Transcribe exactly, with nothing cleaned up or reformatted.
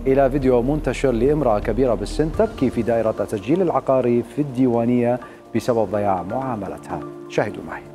إلى فيديو منتشر لامرأة كبيرة بالسن تبكي في دائرة التسجيل العقاري في الديوانية بسبب ضياع معاملتها. شاهدوا معي.